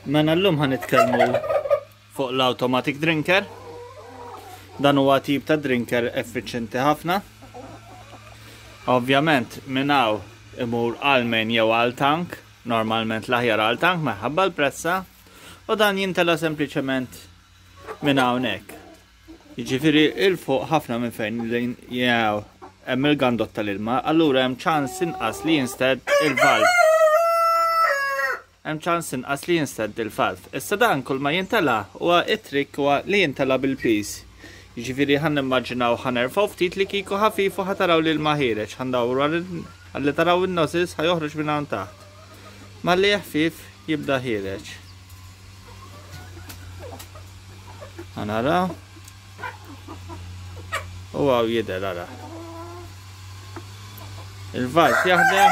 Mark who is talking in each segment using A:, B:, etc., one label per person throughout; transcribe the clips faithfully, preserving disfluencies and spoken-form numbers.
A: Mela llum ħa nitkellmu fuq l-automatic drinker. Dan huwa tip ta' drinker effiċjenti ħafna. Ovvjament minn hawn imur għal main jew għal tank, normalment l-aħjar għal tank minħabba l-pressa, u dan jintela sempliċement minn hawnhekk. Jiġifieri 'il fuq ħafna minn fejn jew hemm il-gandot tal-ilma, allura hemm ċans inqas li jinstedd il-valve. Hemm ċans inqas li jinstedd il-valve. Issa dan kull ma jintela huwa it-trick huwa li jintela bil-piż. Jiġifieri ħa nimmaġinaw ħa nerfgħu ftit li kieku ħafif u ħa taraw li l-ilma ħiereġ, ħa ndawru ħalli taraw in-nozzles ħa joħroġ minn hawn taħt. Malli ħfif jibda ħiereġ. Ħa naraw. U hawn jidher ara. Il-valve jaħdem.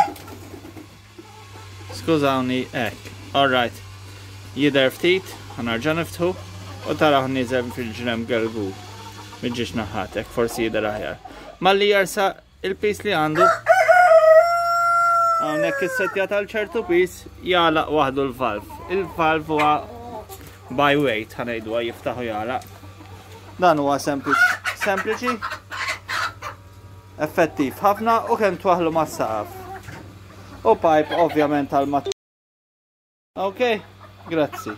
A: Skużawni, hekk. Alright. Jidher ftit, ħa nerġa' niftħu u taraw nieżel fil-ġenb gelgu. Miġġiex naħat, hekk forsi jidher aħjar. Malli jersa il-piż li għandu. Hawnhekk is-setja tal-ċertu piż jagħlaq waħdu l-valve. Il-valve huwa by weight, ħa ngħidu jiftaħu jagħlaq. Dan huwa sempliċi, effettiv ħafna u kemm twaħlu mas-saqaf. U pipe ovvjament tal-mat. Ok, grazzi.